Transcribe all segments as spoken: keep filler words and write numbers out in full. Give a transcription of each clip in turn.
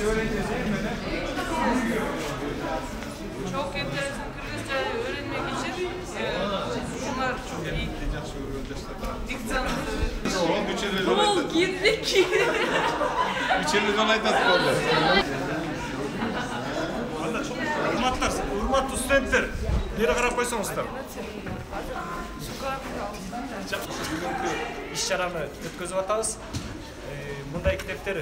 Çok enteresan Kırgızca öğrenmek için şunlar çok iyi. Diksiyonu. Bol girdik. Üçerliden aytasın oldu. Урматтар, урматтуу студенттер, бери карап койсоңуздар. Бүгүнкү иш-чараны өткөзүп атабыз. Мындай китептер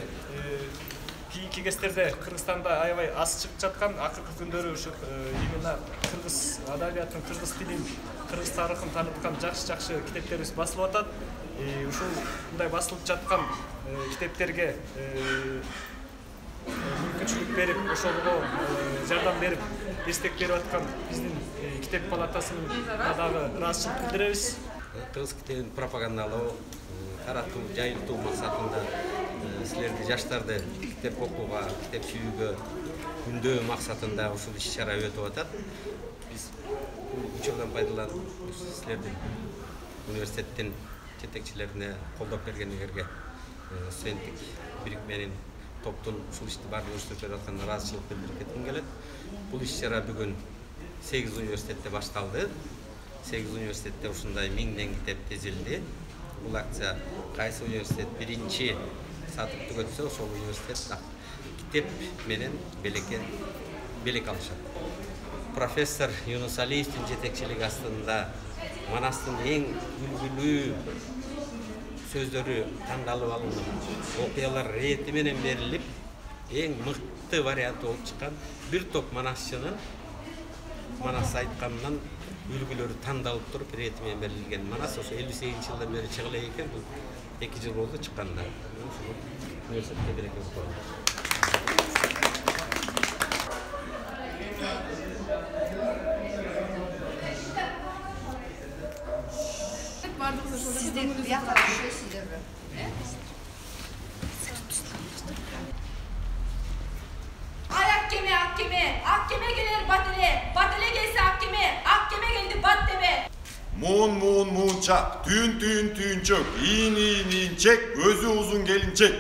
кийинки кездерде Кыргызстанда аябай аз чыгып жаткан, акыркы күндөрү ушу именно кыргыз адабиятын, кыргыз тилин, кыргыз тарыхын тааныткан жакшы-жакшы китептерибиз басылып атат. Ушул мындай басылып жаткан китептерге мүмкүнчүлүк берип, ошолго жардам берип, дестек берип аткан биздин китеп палатасына дагы ыраазычылык билдиребиз. Кыргыз китебин пропагандалоо, таратуу, жайылтуу максатында силерди жаштарды китеп окууга, китеп сүйүүгө үндөө максатында ушул иш-чара өтүп атат. Биз учурдан пайдаланып, силердин университеттин жетекчилерине колдоп бергениңерге студенттик бирикменин топтун ушул ишти баардык өрүштүрүп берип атканына ыраазычылык билдирип кетким келет. Бул иш-чара бүгүн сегиз университетте башталды. сегиз университетте ушундай миңден китеп тизилди. Бул акция кайсы университет биринчи сатыпты өтсө, ошол университет китеп менен белекке белек алышат. Профессор Юнус Алиевдин жетекчилиги астында Манастын эң үлгүлүү сөздөрү тандалып алынып, окуялар рети менен берилип, эң мыкты варианты болуп чыккан бир топ манасчынын манас айтканынан үлгүлөрү тандалып туруп рети менен берилген манас ошо элүү сегизинчи жылдан бери чыга элек экен. Бул эки жыл болду чыкканына. Ушул университетке береке болсун. Sizler yaklaşıyor sizler mi? Ayak kemi, ak kemi, ak kemi gelir batele, batele gelse ak kemi, ak kemi geldi bat deme. Muun muun muun çak, tüyün tüyün tüyün çök, iğin iğin iğin çek, gözü uzun gelinçek.